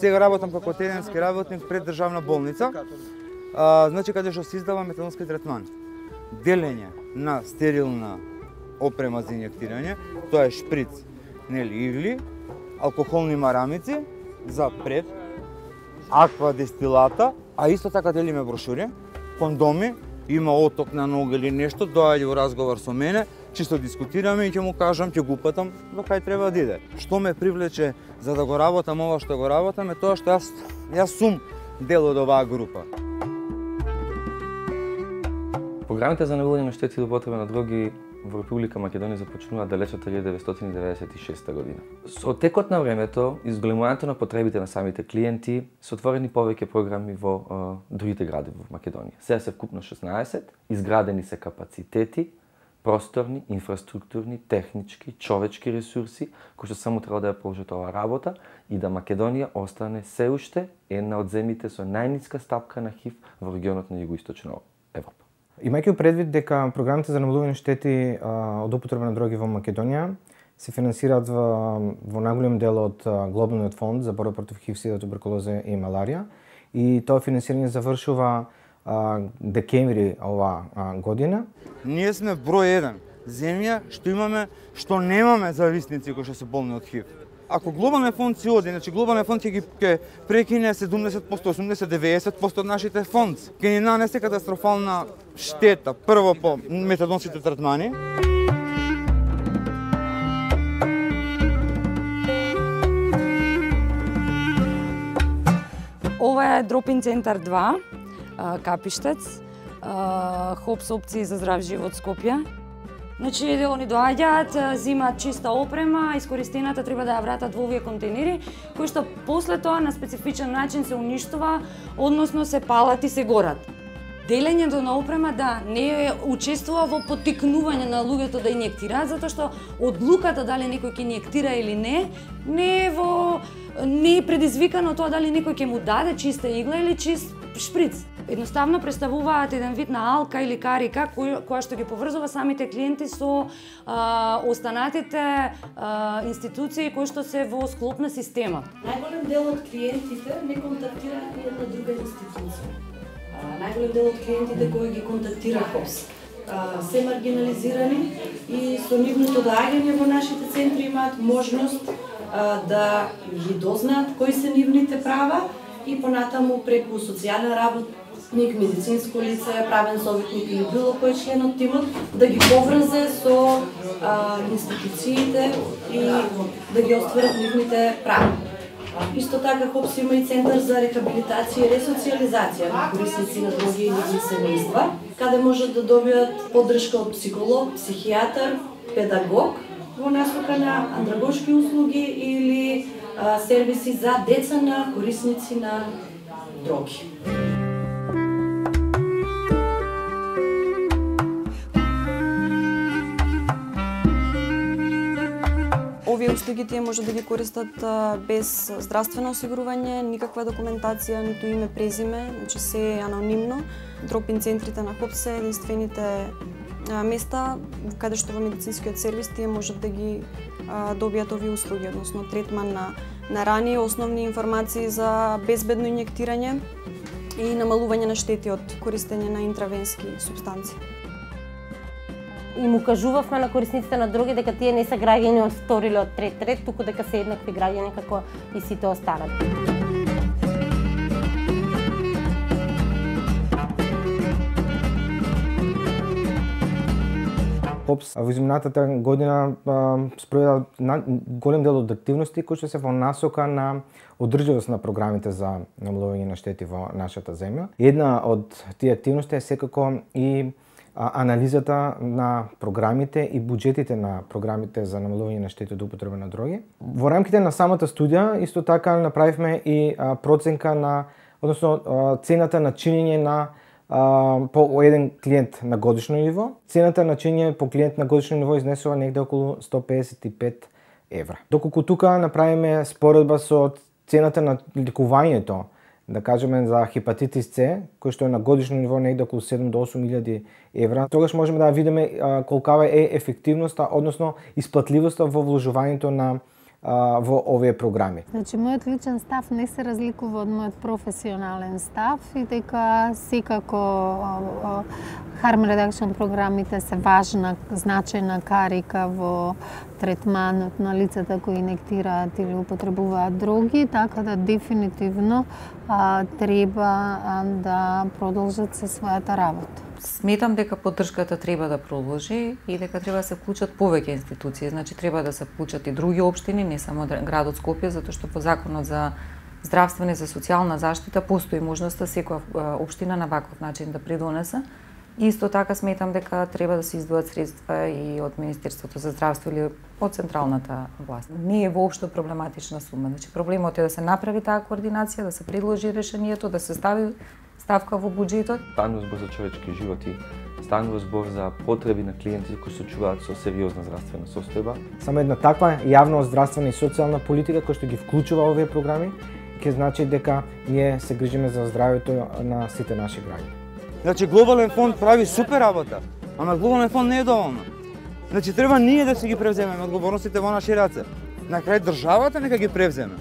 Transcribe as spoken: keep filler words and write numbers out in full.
сега работам како теренски работник пред државна болница, а, значи каде што се издава метадонски третман. Делење на стерилна опрема за инјектирање, тоа е шприц, нели, игли, алкохолни марамици за пред, аква дестилата, а исто така делиме брошури, кондоми, има оток на нога или нешто, доаѓа во разговор со мене, чисто дискутираме и ќе му кажам, ќе го упатам до кај треба да иде. Што ме привлече за да го работам ова што го работам е тоа што јас јас сум дел од оваа група. Програмите за намалување на штети од употреба на дроги во Република Македонија започнува далечната илјада деветстотини деветдесет и шеста година. Со текот на времето и зголемувањето на потребите на самите клиенти се отворени повеќе програми во а, другите градови во Македонија. Сега се вкупно шеснаесет, изградени се капацитети, просторни, инфраструктурни, технички, човечки ресурси, кои што само треба да ја продолжат оваа работа и да Македонија остане се уште една од земјите со најниска стапка на ХИВ во регионот на Југоисточна Европа. Имајќи предвид дека програмите за намалување на штети а, од употреба на дроги во Македонија се финансираат во, во најголем дел од Глобалниот фонд за борба против ХИВ, сида, туберкулоза и маларија, и тоа финансирање завршува а, декември ова а, година. Ние сме број еден земја што имаме, што немаме зависници кои што се болни од ХИВ. Ако Глобалниот фонд си оди, значи Глобалниот фонд ќе ги ќе прекине седумдесет посто, осумдесет, деветдесет посто од нашите фонд. Ќе ни нанесе катастрофална штета, прво по метадонските третмани. Ова е Дропин центар два, Капиштец, хопс опции за здрав живот Скопје. Значи, они доаѓаат, зимаат чиста опрема, искористената треба да ја вратат во овие контейнери, кои што после тоа на специфичен начин се уништува, односно се палат и се горат. Делењето на опрема да не учествува во поттикнување на луѓето да инјектираат, затоа што одлуката дали некој ќе инјектира или не, не е во не е предизвикано тоа дали некој ќе му даде чиста игла или чист шприц. Едноставно представуваат еден вид на алка или карика која, која што ги поврзува самите клиенти со а, останатите а, институции кои што се во склоп на системот. Најголем дел од клиентите не контактира една друга институција. Најголем дел од клиентите кои ги контактира ХОПС се маргинализирани и со нивното доаѓање во нашите центри имаат можност а, да ги дознаат кои се нивните права и понатаму преку социјален работник, медицинско лице, правен советник или било кој член од тимот да ги поврзе со а, институциите и да ги остварат нивните права. Исто така ХОПС има и центар за рехабилитација и ресоциализација на корисници на дроги и нивни семејства, каде можат да добијат поддршка од психолог, психијатар, педагог во насока на андрагошки услуги или а, сервиси за деца на корисници на дроги. Овие услуги тие може да ги користат без здравствено осигурување, никаква документација, ниту име, презиме, значи се е анонимно. Дропин центрите на ХОПС се единствените места каде што во медицинскиот сервис тие можат да ги добијат овие услуги, односно третман на, на рани, основни информации за безбедно инјектирање и намалување на штети од користење на интравенски супстанции. И му кажувавме на корисниците на дроги дека тие не се граѓани од втори или од трет ред, туку дека се еднакви граѓани како и сите останати. ХОПС во изминатата година спроведа голем дел од активности кои што се во насока на одржливост на програмите за намалување на штети во нашата земја. Една од тие активности е секако и анализата на програмите и буџетите на програмите за намалување на штети од употреба на дроги. Во рамките на самата студија исто така направивме и проценка на, односно цената на чинење на по еден клиент на годишно ниво. Цената на чинење по клиент на годишно ниво изнесува негде околу сто педесет и пет евра. Доколку тука направиме споредба со цената на лекувањето, да кажеме за хепатитис С, кој што е на годишно ниво негде околу седум до осум илјади евра, тогаш можеме да видиме колкава е ефективноста, односно исплатливоста во вложувањето на а, во овие програми. Значи, мојот личен став не се разликува од мојот професионален став и дека секако harm reduction програмите се важна, значајна карика во третманот на лицата кои инектираат или употребуваат дроги, така да дефинитивно а, треба а, да продолжат со својата работа. Сметам дека поддршката треба да продолжи и дека треба да се вклучат повеќе институции. Значи треба да се вклучат и други општини, не само градот Скопје, затоа што по законот за здравствена и за социјална заштита постои можноста секоја општина на ваков начин да придонесе. Исто така сметам дека треба да се издвојат средства и од Министерството за здравство или од централната власт. Не е воопшто проблематична сума. Значи проблемот е да се направи таа координација, да се предложи решението, да се стави ставка во буџетот. Станува збор за човечки животи, станува збор за потреби на клиентите кои се чуваат со сериозна здравствена состојба. Само една таква јавна здравствена и социјална политика која што ги вклучува овие програми ќе значи дека ние се грижиме за здравјето на сите наши граѓани. Значи глобален фонд прави супер работа, ама глобален фонд не е доволно. Значи треба ние да се ги превземеме одговорностите во наши раце. На крај државата нека ги превземе.